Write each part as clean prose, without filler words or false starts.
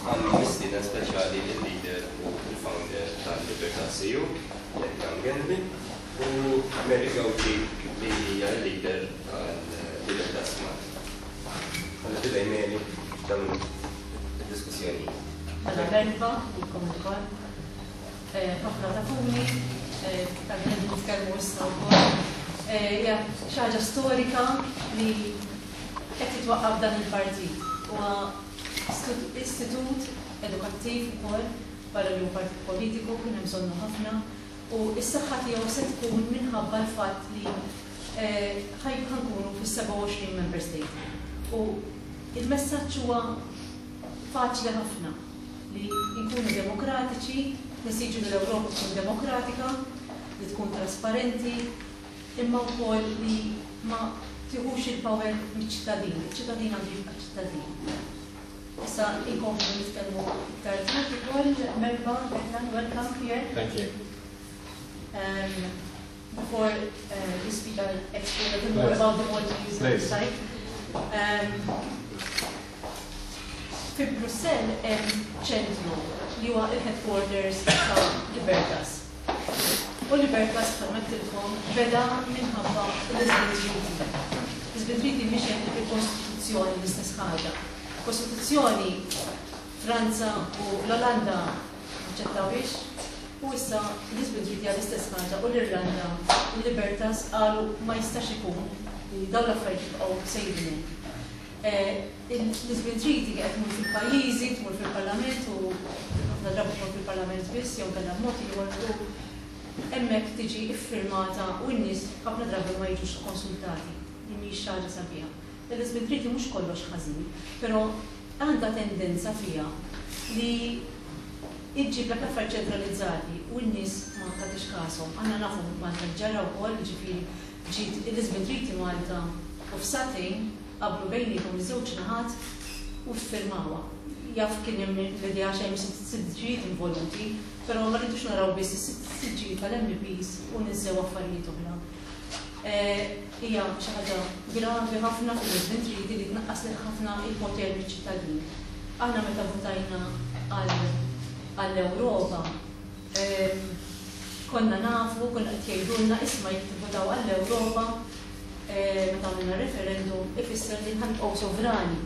Għandna mistieden speċjali il-leader u il-founder tal-Libertas EU, Declan Ganley, u Mary Gauci li hija l-leader tal-Libertas Malta. Għandna f'idejk, Mary, dan id-diskussjoni. Mela merħba lilkom ilkoll. Ħafna tafuni, tal qegħdin nitkellmu issa wkoll. Hija xi ħaġa storika li qed jitwaqqaf dan il-partit. Huwa istitut edukattiv ukoll barra li hu partit politiku kien hemm bżonnu ħafna u s-saħħa tiegħu se tkun minħabba l-fatt li ħa nkunu fis-27 member state. U il-messaġġ huwa faċli ħafna li nkunu demokratiċi, nesiġu li l-Ewropa tkun demokratika, li tkun trasparenti, imma wkoll li ma tiħux il-power miċ-ċittadin. Iċ-ċittadin għandu jibqa' ċittadin. Issa inkomplu nitkellmu iktar tard ukoll. Merħba, Declan, welcome here. Thank you. Before you speak, I'll explain a little more about the Maltese Please. side. Fi Brussell hemm ċentru li huwa il-headquarters ta' Libertas. U Libertas, bħalma għedtilkom, beda minħabba l-Lisbon Treaty. Lisbon Treaty mhix hekk fil-Kostituzzjoni l-istess ħaġa. Kostituzzjoni Franza u l-Olanda aċċettawhiex u issa Lisbon Treaty għal l-istess ħaġa u l-Irlanda u Libertas qalu ma jistax ikun li dawn l-affarijiet jibqgħu sejrin hekk. Il-Lisbon Treaty qed tmur fil-pajjiżi, tmur fil-Parlament u ħafna drabi tmur fil-Parlament biss jew kellha b'mod ieħor u hemmhekk tiġi iffirmata u n-nies ħafna drabi ma jiġux konsultati. Li mhix xi ħaġa sabiħa. Il-Lisbon Treaty mhux kollox ħażin, però għandha tendenza fiha li iġġib l affarijiet ċentralizzati u n-nies ma tagħtix kashom. Aħna nafu Malta ġara wkoll, ġifieri ġiet il-Lisbon Treaty Malta u f'sagħtejn qablu bejniethom iż-żewġ naħat u ffirmawha. Jaf kien hemm l-idea xejn siġġijiet involuti, però ma rridux naraw biss is-siġġijiet tal-MEPs u ninsew affarijiet oħra. Hija xi ħaġa gravi ħafna fil-Lisbon Treaty li tnaqqas ħafna il-poter miċ-ċittadin. Aħna meta votajna għall-Ewropa, konna nafu, konna qed jgħidulna isma' jekk tivvotaw għall-Ewropa meta għamilna referendum ifisser li ħa nibqgħu sovrani.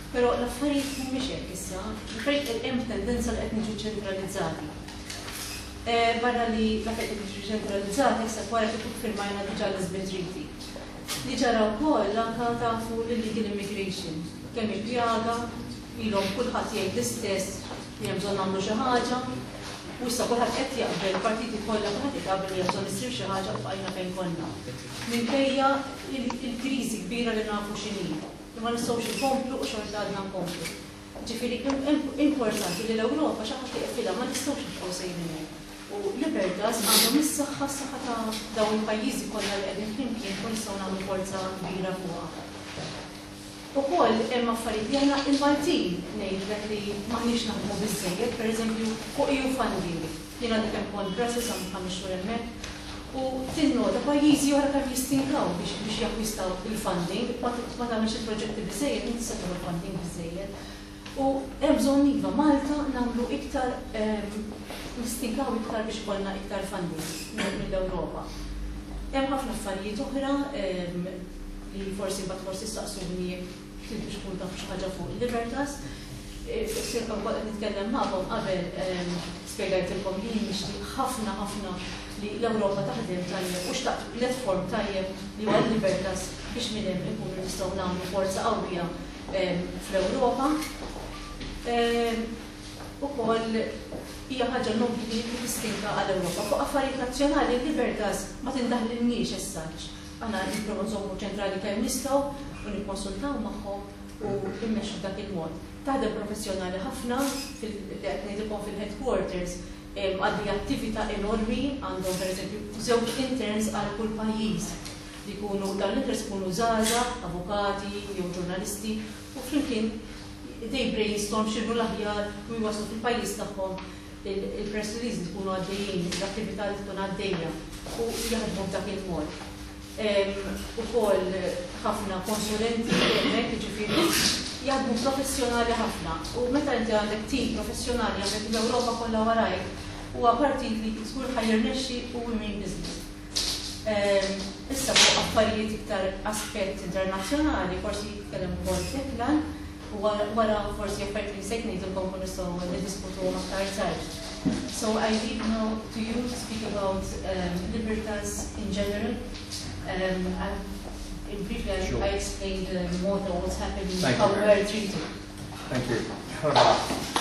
Però l-affarijiet mhumiex hekk issa, l-affarijiet hemm tendenza li qed niġu ċentralizzati. Barra li l-affarijiet qed jiġu ċentralizzati, issa wara kif firmajna diġà l-Lisbon Treaty. Li ġara wkoll anka tafu l-illegal immigration, kemm il-pjaga, ilhom kulħadd jgħid l-istess li hemm bżonn nagħmlu xi ħaġa, u issa kulħadd qed jaqbel, partiti kollha kulħadd qed jaqbel li hemm bżonn issir xi ħaġa u bqajna fejn konna. Minkejja il-kriżi kbira li nafu x'inhi, li ma nistgħux inkomplu u xorta għadna nkomplu. Ġifieri importanti li l-Ewropa xi ħadd iqfilha, ma nistgħux nibqgħu sejrin hekk. U Libertas għandhom is-saħħa, s-saħħa ta' dawn il-pajjiżi kollha li qegħdin flimkien u nistgħu nagħmlu forza kbira fuqha. Ukoll hemm affarijiet li aħna il-Maltin ngħidlek li m'aħniex naħdmu biżżejjed, pereżempju fuq EU funding. Jien għadni kemm kont Brussels għamilt 5 xhur hemmhekk u tinnota pajjiżi oħra kemm jistinkaw biex jakkwistaw il-funding, ma tagħmilx il-proġetti biżżejjed, inti tista' tagħmel funding biżżejjed. U hemm bżonn iva Malta nagħmlu iktar, nistinkaw iktar biex ikollna iktar funding mill-Ewropa. Hemm ħafna affarijiet oħra li forsi mbagħad forsi staqsuni jekk tridu tkun tafu xi ħaġa fuq il-Libertas. Sirkom kont qed nitkellem magħkom qabel, spjegajtilkom li nixtieq ħafna ħafna li l-Ewropa taħdem tajjeb u xtaqt platform tajjeb li huwa l-Libertas biex minn hemm ikunu nistgħu nagħmlu forza qawwija fl-Ewropa. Ukoll hija ħaġa nobli li tistinka għall-Ewropa. Fuq affarijiet nazzjonali l-Libertas ma tindaħlilniex as such. Aħna nipprovaw nżommu ċentrali kemm nistgħu u nikkonsultaw magħhom u immexxu b'dak il-mod. Taħdem professjonali ħafna li qed ngħidilkom fil-headquarters għaddejja attività enormi, għandhom pereżempju żewġ interns għal kull pajjiż li jkunu dawn l-interns ikunu żgħażagħ, avukati jew ġurnalisti u flimkien they brainstorm x'inhu l-aħjar u jwaslu fil-pajjiż tagħhom il-press release li tkunu għaddejjin, l-attività li tkun għaddejja u jaħdmu b'dak il-mod. Ukoll ħafna konsulenti hemmhekk, jiġifieri. Jaħdmu professjonali ħafna u meta inti għandek tim professjonali, għandek l-Ewropa kollha warajk, huwa partit li żgur ħa jirnexxi u we mean business. Issa fuq affarijiet iktar aspett internazzjonali, forsi jitkellem ukoll Declan, u wara forsi affarijiet li sejt ngħidilkom kun nistgħu niddiskutuhom aktar tard. So I leave now to you to speak about Libertas in general. In briefly, I explained more than what's happening, Thank how you. we are treated. Thank you.